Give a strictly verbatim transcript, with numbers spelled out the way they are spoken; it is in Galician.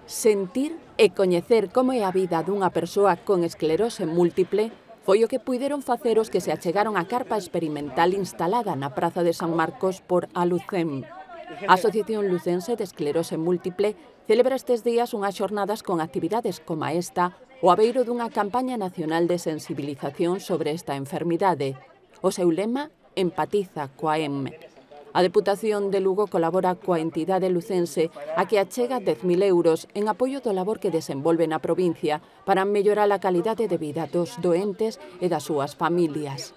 Sentir e coñecer como é a vida dunha persoa con esclerose múltiple foi o que puideron facer os que se achegaron á carpa experimental instalada na Praza de San Marcos por Alucem. A Asociación Lucense de Esclerose Múltiple celebra estes días unhas xornadas con actividades como esta o abeiro dunha campaña nacional de sensibilización sobre esta enfermidade. O seu lema, empatiza coa E M. A Deputación de Lugo colabora coa entidade lucense a que achega dez mil euros en apoio do labor que desenvolve na provincia para mellorar a calidade de vida dos doentes e das súas familias.